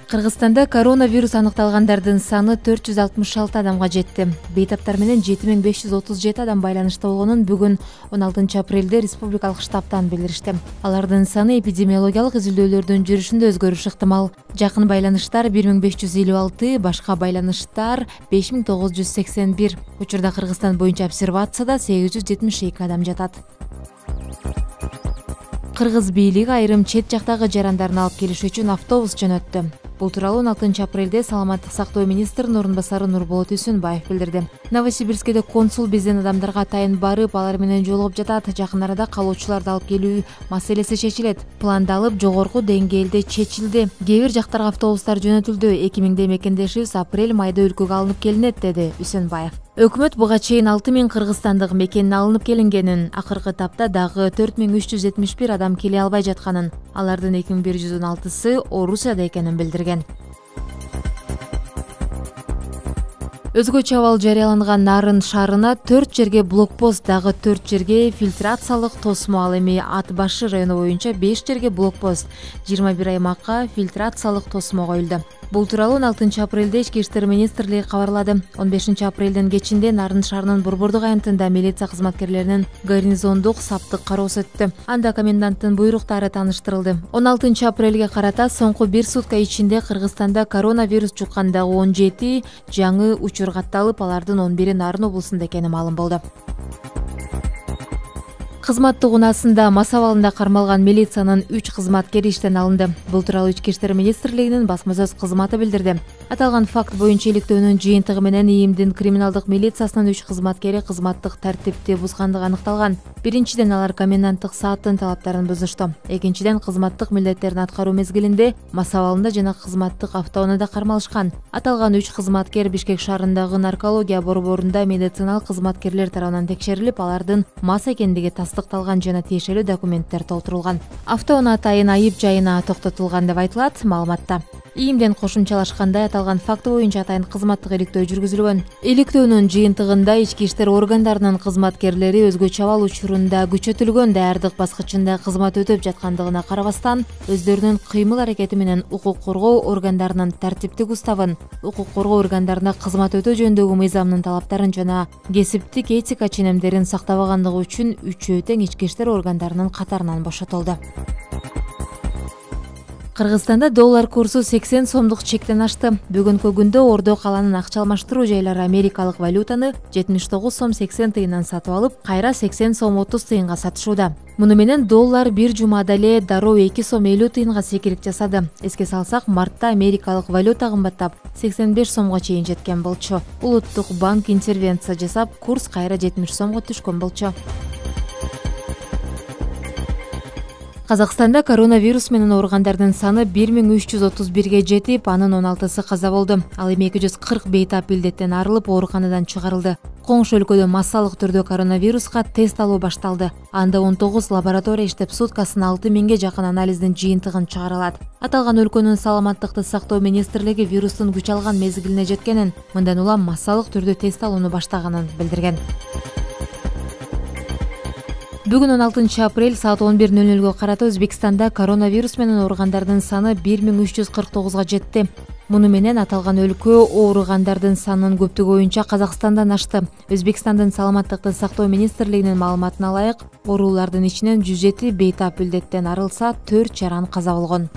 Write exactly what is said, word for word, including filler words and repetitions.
Кыргызстанда коронавирус аныкталгандардын саны төрт жүз алтымыш алты адамга жетти. Бейтаптар менен жети миң беш жүз отуз жети адам байланышта болгонун бүгүн он алтынчы апрелде республикалык штабтан билдиришти. Алардын саны эпидемиологиялык изилдөөлөрдүн жүрүшүндө өзгөрүш ыктымал. Жакын байланыштар бир миң беш жүз элүү алты, башка байланыштар беш миң тогуз жүз сексен бир. Учурда Кыргызстан боюнча обсервацияда сегиз жүз жетимиш эки адам жатат. Кыргыз бийлиги айрым чет жактагы жарандарын алып келиш үчүн автобус жөнөттү. Бул тууралуу он алтынчы апрелде саламаттык сактоо министринин орун басары Нурболот Үсүнбаев билдирди. Новосибирскеде консул бизден адамдарга атайын барып, алар менен жолугуп жатат. Жакын арада калоочуларды алып келүү маселеси чечилет. Пландалып, жогорку деңгээлде чечилди. Кээ бир жактарга автобустар жөнөтүлдү. эки миңдей мекендешибиз апрель майда өлкөгө алынып келинет, деди Үсүнбаев. Өкмөт буга чейин алты миң кыргызстандык мекенин алынып келингенин, акыркы тапта дагы төрт миң үч жүз жетимиш бир адам келе албай жатканын, алардын эки миң бир жүз он алтысы Орусияда экенин билдирген. Өзгөчө абал жарыяланган Нарын шаарына төрт жерге блокпост, дагы төрт жерге фильтрациялык тосмо, ал эми Ат башы району боюнча беш жерге блокпост, жыйырма бир аймакка фильтрациялык тосмо коюлду. Бул тууралуу он алтынчы апрелде Ички иштер министрлиги кабарлады. он бешинчи апрелдин кечинде Нарын шаарынын Борбордук аянтында милиция кызматкерлеринин гарнизондук саптык кароосу өттү. Анда коменданттын буйруктары тааныштырылды. он алтынчы апрелге карата соңку бир сутка ичинде Кыргызстанда коронавирус жуккандагы он жети жаңы учур катталып, алардын он бири Нарын облусунда экени маалым болду. Кызматтык унаасында мас абалында кармалган милициянын үч кызматкери иштен алынды. Бул тууралуу Ички иштер министрлигинин басма сөз кызматы билдирди. Аталган факт боюнча иликтөөнүн жыйынтыгы менен ИИМдин криминалдык милициясынын үч кызматкери кызматтык тартипти бузгандыгы аныкталган. Биринчиден, алар коменданттык сааттын талаптарын бузушту. Экинчиден, кызматтык милдеттерин аткаруу мезгилинде мас абалында жана кызматтык автоунаада кармалышкан. Аталган үч кызматкер Бишкек шаарындагы наркология борборунда медициналык кызматкерлер тарабынан текшерилип, алардын мас экендиги тастыкталган жана тиешелүү документтер толтурулган. Автоунаа атайын айып жайына токтотулган деп айтылат маалыматта. ИИМден кошумчалашкандай, аталган факты боюнча атайын кызматтык иликтөө жүргүзүлгөн. Иликтөөнүн жыйынтыгында ички иштер органдарынын кызматкерлери өзгөчө абал учурунда күчөтүлгөн даярдык баскычында кызмат өтөп жаткандыгына карабастан, өздөрүнүн кыймыл аракети менен укук коргоо органдарынын тартиптик уставын, укук коргоо органдарына кызмат өтөө жөнүндөгү мыйзамдын талаптарын жана кесиптик этика ченемдерин сактабагандыгы үчүн үчөө тең ички иштер органдарынын катарынан бошотулду. Кыргызстанда доллар курсу сексен сомдук чектен ашты. Бүгүнкү күндө Ордо каланын акча алмаштыруу жайлары америкалык валютаны жетимиш тогуз сом сексен тыйындан сатып алып, кайра сексен сом отуз тыйынга сатышууда. Муну менен доллар бир жумада эле дароо эки сом элүү тыйынга секирип жасады. Эске салсак, мартта америкалык валюта кымбаттап сексен беш сомго чейин жеткен болчу. Улуттук банк интервенция жасап, курс кайра жетимиш сомго түшкөн болчу. Казакстанда коронавирус менен ооругандардын саны бир миң үч жүз отуз бирге жетип, анын он алтысы каза болду. Ал эми эки жүз кырк бейтап илдеттен арылып, ооруканадан чыгарылды. Коңшу өлкөдө массалык түрдө коронавируска тест алуу башталды. Анда он тогуз лаборатория иштеп, суткасына алты миңге жакын анализдин жыйынтыгын чыгара алат. Аталган өлкөнүн саламаттыкты сактоо министрлиги вирустун күч алган мезгилине жеткенин, мындан улам массалык түрдө тест алууну баштаганын билдирген. Бүгүн он алтынчы апрель саат он бир нөл нөлгө карата Өзбекстанда коронавирус менен ооругандардын саны бир миң үч жүз кырк тогузга жетти. Муну менен аталган өлкө ооругандардын санынын көптүгү боюнча Казакстандан ашты. Өзбекстандын саламаттыкты сактоо министрлигинин маалыматына ылайык, оорулардын ичинен жүз жети бейтап илдеттен арылса, төрт жаран каза болгон.